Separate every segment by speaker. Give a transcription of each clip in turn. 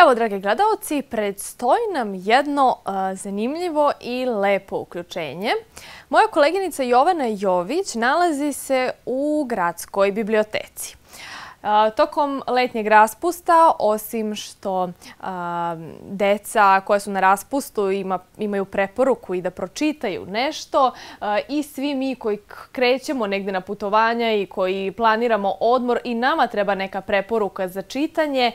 Speaker 1: Evo, dragi gledalci, predstoji nam jedno zanimljivo i lepo uključenje. Moja koleginica Jovana Jović nalazi se u Gradskoj biblioteci. Tokom letnjeg raspusta, osim što deca koja su na raspustu imaju preporuku i da pročitaju nešto, i svi mi koji krećemo negdje na putovanja i koji planiramo odmor, i nama treba neka preporuka za čitanje.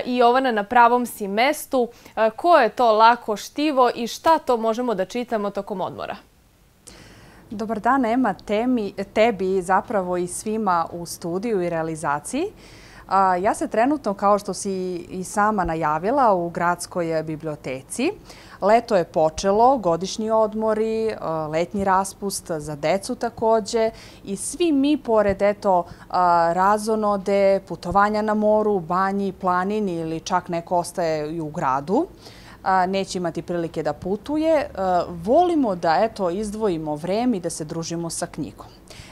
Speaker 1: I Jovana, na pravom si mestu. Koje je to lako štivo i šta to možemo da čitamo tokom odmora?
Speaker 2: Dobar dan, Ema, tebi zapravo i svima u studiju i realizaciji. Ja se trenutno, kao što si i sama najavila, u Gradskoj biblioteci. Leto je počelo, godišnji odmori, letnji raspust za decu također i svi mi, pored razonode, putovanja na moru, banji, planini ili čak neko ostaje i u gradu, neće imati prilike da putuje, volimo da izdvojimo vreme i da se družimo sa knjigom.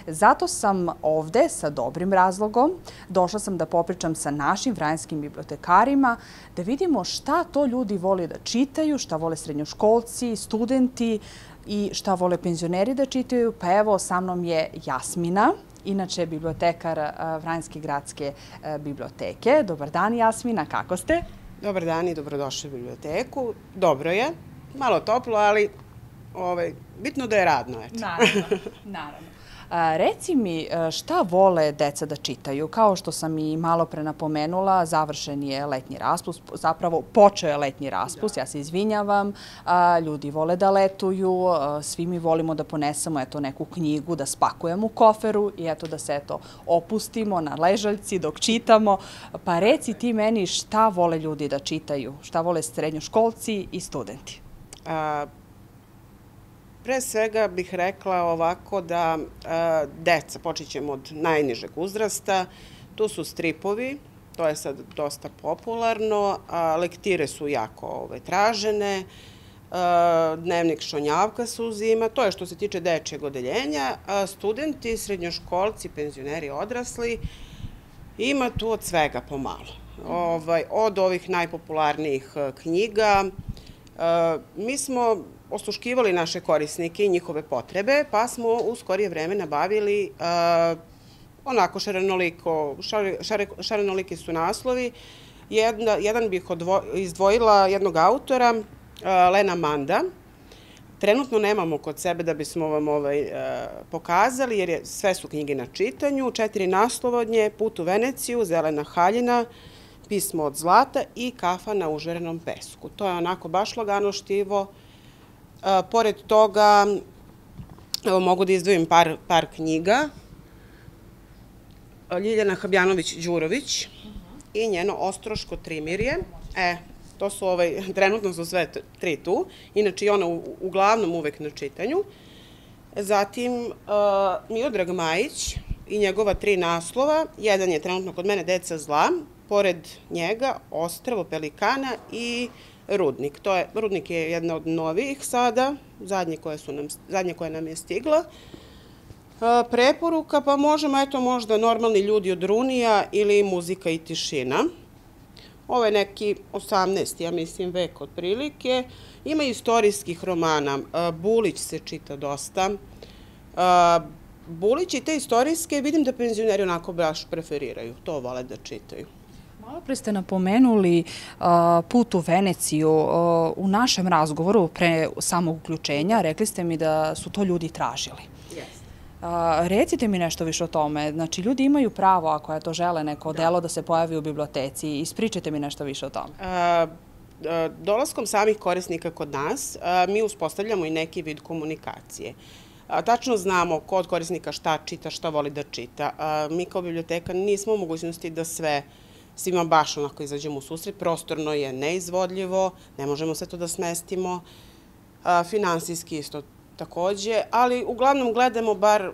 Speaker 2: Zato sam ovde sa dobrim razlogom. Došla sam da popričam sa našim vranjskim bibliotekarima, da vidimo šta to ljudi vole da čitaju, šta vole srednjoškolci, studenti i šta vole penzioneri da čitaju. Pa evo, sa mnom je Jasmina, inače bibliotekar Vranjske gradske biblioteke. Dobar dan, Jasmina, kako ste?
Speaker 3: Dobar dan i dobrodošli u biblioteku. Dobro je, malo toplo, ali bitno da je radno.
Speaker 2: Naravno. Reci mi, šta vole deca da čitaju? Kao što sam i malo pre napomenula, završen je letnji raspust, zapravo počeo je letnji raspust, ja se izvinjavam, ljudi vole da letuju, svi mi volimo da ponesemo neku knjigu, da spakujemo u koferu i da se opustimo na ležaljci dok čitamo. Pa reci ti meni šta vole ljudi da čitaju, šta vole srednjoškolci i studenti?
Speaker 3: Pre svega bih rekla ovako da deca, počet ćemo od najnižeg uzrasta, tu su stripovi, to je sad dosta popularno, lektire su jako tražene, dnevnik Šonjavka se uzima, to je što se tiče dečjeg odeljenja. Studenti, srednjoškolci, penzioneri, odrasli, ima tu od svega pomalo. Od ovih najpopularnijih knjiga, mi smo osluškivali naše korisnike i njihove potrebe, pa smo u skorije vreme nabavili onako šarenoliki su naslovi. Jedan bih izdvojila jednog autora, Lena Manda. Trenutno nemamo kod sebe da bismo vam pokazali, jer sve su knjige na čitanju. 4 naslova od nje: Put u Veneciju, Zelena haljina, Pismo od zlata i Kafa na užarenom pesku. To je onako baš lagano štivo. Pored toga, mogu da izdvojim par knjiga. Ljiljana Habjanović-Đurović i njeno Ostroško trimirje. To su, trenutno su sve 3 tu. Inače, i ona uglavnom uvek na čitanju. Zatim, Miodrag Majić i njegova 3 naslova. Jedan je trenutno kod mene Deca zla. Pored njega Ostrvo pelikana i Rudnik. Rudnik je jedna od novijih sada, zadnje koja nam je stigla. Preporuka, pa možda Normalni ljudi od Runija ili Muzika i tišina. Ovo je neki 18. ja mislim vek otprilike. Ima istorijskih romana. Bulić se čita dosta. Bulić i te istorijske vidim da penzioneri onako baš preferiraju. To vole da čitaju.
Speaker 2: Malo pre ste napomenuli Put u Veneciju. U našem razgovoru pre samog uključenja rekli ste mi da su to ljudi tražili. Recite mi nešto više o tome. Znači, ljudi imaju pravo, ako to žele, neko delo da se pojavi u biblioteci. Ispričajte mi nešto više o tome.
Speaker 3: Dolaskom samih korisnika kod nas, mi uspostavljamo i neki vid komunikacije. Tačno znamo ko od korisnika šta čita, šta voli da čita. Mi kao biblioteka nismo u mogućnosti da svima baš onako izađemo u susret. Prostorno je neizvodljivo, ne možemo sve to da smestimo. Finansijski isto takođe, ali uglavnom gledamo bar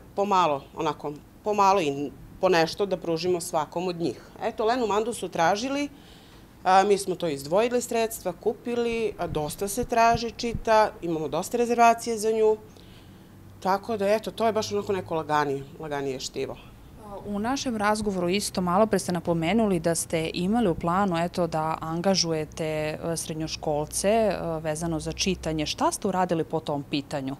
Speaker 3: pomalo i po nešto da pružimo svakom od njih. Eto, Lenu Mandu su tražili, mi smo to izdvojili sredstva, kupili, dosta se traži, čita, imamo dosta rezervacije za nju, tako da eto, to je baš onako neko laganije štivo.
Speaker 2: U našem razgovoru isto malo pre ste napomenuli da ste imali u planu da angažujete srednjoškolce vezano za čitanje. Šta ste uradili po tom pitanju?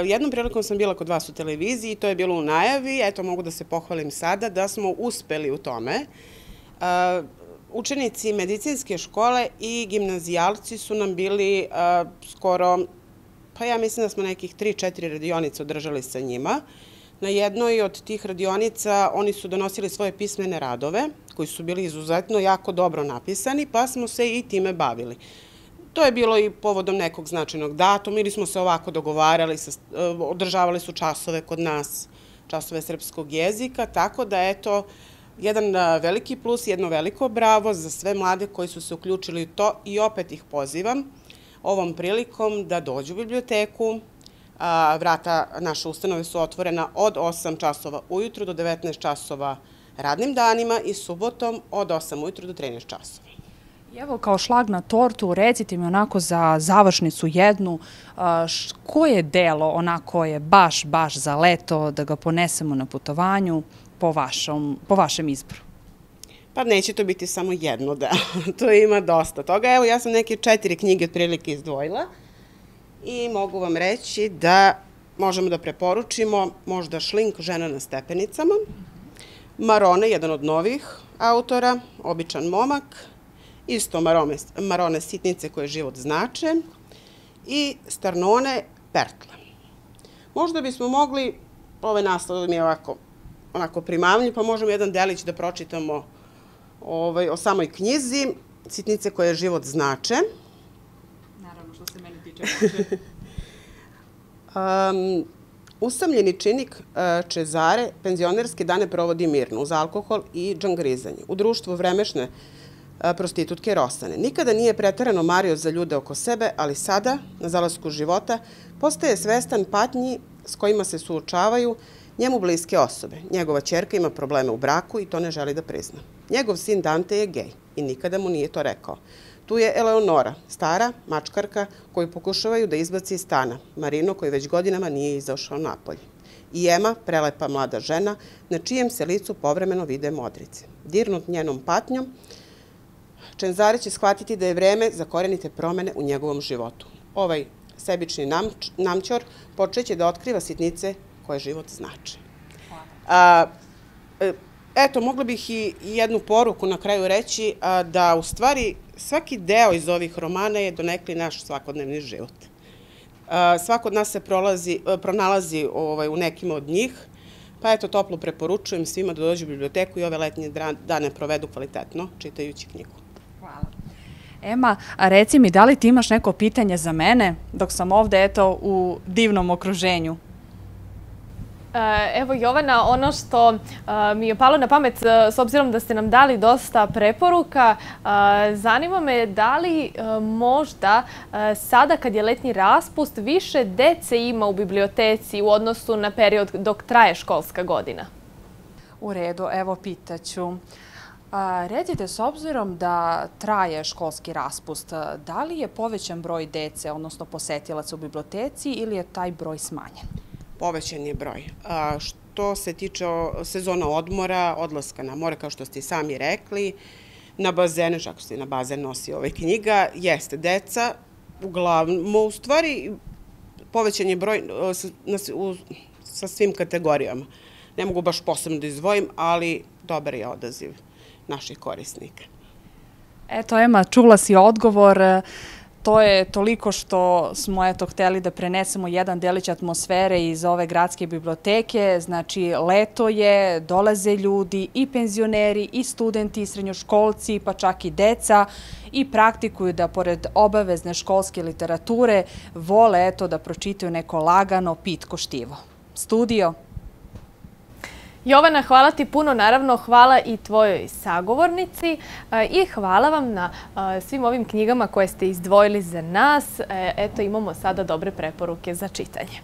Speaker 3: Jednom prilikom sam bila kod vas u televiziji, to je bilo u najavi, mogu da se pohvalim sada da smo uspeli u tome. Učenici medicinske škole i gimnazijalci su nam bili skoro, pa ja mislim da smo nekih 3-4 radionice održali sa njima. Na jednoj od tih radionica oni su donosili svoje pismene radove, koji su bili izuzetno jako dobro napisani, pa smo se i time bavili. To je bilo i povodom nekog značajnog datuma ili smo se ovako dogovarali, održavali su časove kod nas, časove srpskog jezika, tako da jedan veliki plus, jedno veliko bravo za sve mlade koji su se uključili u to i opet ih pozivam ovom prilikom da dođu u biblioteku. Vrata naše ustanove su otvorena od 8 časova ujutru do 19 časova radnim danima i subotom od 8 ujutru do 13 časova.
Speaker 2: Evo, kao šlag na tortu, recite mi onako za završnicu jednu, koje delo onako je baš za leto da ga ponesemo na putovanju po vašem izboru?
Speaker 3: Pa neće to biti samo jedno delo, to ima dosta toga. Evo, ja sam neke 4 knjige otprilike izdvojila i mogu vam reći da možemo da preporučimo možda Šlink, Žena na stepenicama, Marone, jedan od novih autora, Običan momak, isto Marone Sitnice koje život znače i Starnone Pertle. Možda bismo mogli, ovaj naslov mi je onako primamljiv, pa možemo jedan delić da pročitamo o samoj knjizi, Sitnice koje život znače.
Speaker 2: Naravno, što se mene tiče može.
Speaker 3: Usamljeni činik Čezare penzionerske dane provodi mirno, uz alkohol i džangrizanje, u društvu vremešne prostitutke Rosane. Nikada nije preterano mario za ljude oko sebe, ali sada, na zalasku života, postaje svestan patnji s kojima se suočavaju njemu bliske osobe. Njegova ćerka ima probleme u braku i to ne želi da prizna. Njegov sin Dante je gej i nikada mu nije to rekao. Tu je Eleonora, stara mačkarka koju pokušavaju da izbaci iz stana, Marino koji već godinama nije izašao napolje. I Ema, prelepa mlada žena, na čijem se licu povremeno vide modrice. Dirnut njenom patnjom, Čezare će shvatiti da je vreme za korenite promene u njegovom životu. Ovaj sebični namćor počeće da otkriva sitnice koje život znače. Eto, mogla bih i jednu poruku na kraju reći da u stvari svaki deo iz ovih romana je donekli naš svakodnevni život. Svako od nas se pronalazi u nekim od njih, pa eto, toplo preporučujem svima da dođu u biblioteku i ove letnje dane provedu kvalitetno čitajući knjigu.
Speaker 2: Hvala. Ema, a reci mi, da li ti imaš neko pitanje za mene dok sam ovde, u divnom okruženju?
Speaker 1: Evo, Jovana, ono što mi je palo na pamet, s obzirom da ste nam dali dosta preporuka, zanima me da li možda sada kad je letnji raspust više dece ima u biblioteci u odnosu na period dok traje školska godina?
Speaker 2: U redu, evo pitaću. Recite, s obzirom da traje školski raspust, da li je povećan broj dece, odnosno posetilaca u biblioteci ili je taj broj smanjen?
Speaker 3: Povećan je broj. Što se tiče sezona odmora, odlaska na more, kao što ste i sami rekli, na bazene, ako se na bazen nosi knjiga, jeste deca, uglavnom, u stvari povećan je broj sa svim kategorijama. Ne mogu baš posebno da izdvojim, ali dobar je odaziv naših korisnika.
Speaker 2: Eto, Ema, čula si odgovor. To je toliko što smo hteli da prenesemo jedan delić atmosfere iz ove gradske biblioteke. Znači, leto je, dolaze ljudi, i penzioneri, i studenti, i srednjoškolci, pa čak i deca, i praktikuju da, pored obavezne školske literature, vole da pročitaju neko lagano, pitko štivo. Studio.
Speaker 1: Jovana, hvala ti puno, naravno hvala i tvojoj sagovornici i hvala vam na svim ovim knjigama koje ste izdvojili za nas. Eto, imamo sada dobre preporuke za čitanje.